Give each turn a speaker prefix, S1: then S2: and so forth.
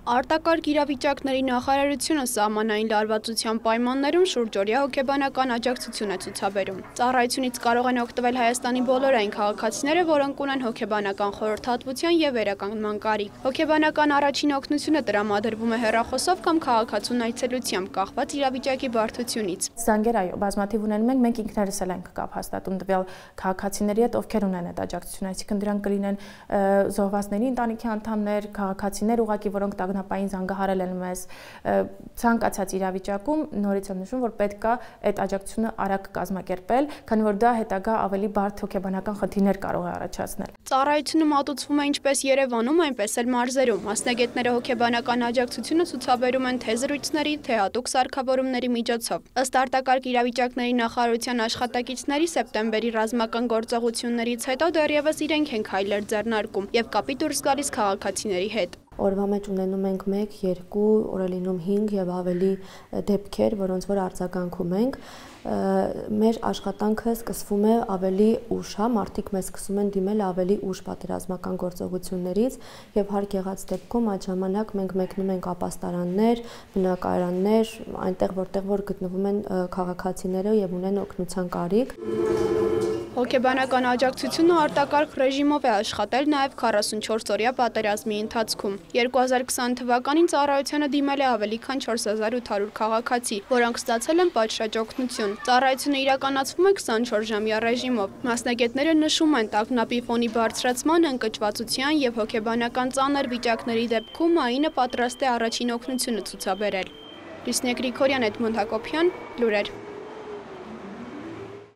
S1: Արտակարգ իրավիճակների նախարարությունը սահմանային լարվածության պայմաններում շուրջօրյա հոգեբանական աջակցություն է ցուցաբերում։ Ծառայությունից կարող են օգտվել Հայաստանի բոլոր այն քաղաքացիները, որոնք ունեն հոգեբանական խորհրդատվության և վերականգնման կարիք։ Հոգեբանական առաջին օգնությունը տրամադրվում է հեռախոսով կամ քաղաքացուն այցելությամբ, կախված իրավիճակի բարդությունից։
S2: Զանգեր այո, բազմաթիվ ունենում ենք, մենք ինքներս էլ ենք կապ հաստատում տվյալ քաղաքացիների հետ, ովքեր ունեն այդ աջակցությունը, այսինքն դրանք կլինեն զոհվածների ընտանիքի անդամներ, քաղաքացիներ ուղղակի, որոնք տագնապային զանգահարել են մեզ, ցանկացած իրավիճակում նորից եմ նշում, որ պետք է այդ աջակցությունը արագ կազմակերպել, քանի որ դա հետագա ավելի բարդ հոգեբանական խնդիրներ կարող է առաջացնել։
S1: Ծառայությունը մատուցվում է ինչպես Երևանում, այնպես էլ մարզերում։ Մասնագետները հոգեբանական աջակցությունը ցուցաբերում են թե զրույցների, թե հատուկ սարքավորումների միջոցով։ Ըստ արտակարգ իրավիճակների նախարարության աշխատակիցների սեպտեմբերի ռազմական գործողություններից հետո դեռևս իրենք են քայլեր ձեռնարկում եւ կապի դուրս գալիս քաղաքացիների հետ։
S3: Օրվա մեջ ունենում ենք 1, 2, օր է լինում 5 եւ ավելի դեպքեր, որոնց որ արձագանքում ենք։ Մեր աշխատանքը սկսվում է ավելի ուշ, մարդիկ մեզ սկսում են դիմել ավելի ուշ պատերազմական գործողություններից եւ հարկ եղած դեպքում այդ ժամանակ մենք մեկնում ենք ապաստարաններ, բնակարաններ, այնտեղ որտեղ որ գտնվում են քաղաքացիները եւ ունեն օգնության կարիք։
S1: Հոգեբանական աջակցությունը արտակարգ ռեժիմով է աշխատել նաև 44-օրյա պատերազմի ընթացքում։ 2020 թվականին ծառայությանը դիմել է ավելի քան 4800 քաղաքացի, որոնք ստացել են պատշաճ օգնություն։ Ծառայությունը իրականացվում է 24-ժամյա ռեժիմով։ Մասնագետները նշում են, տագնապի ֆոնի բարձրացման, ընկճվածության եւ հոգեբանական ծանր վիճակների դեպքում ԱԻՆ-ը պատրաստ է առաջին օգնությունը ցուցաբերել։ Լուսինե Գրիգորյան, Էդմոնդ Հակոբյան, լուրեր։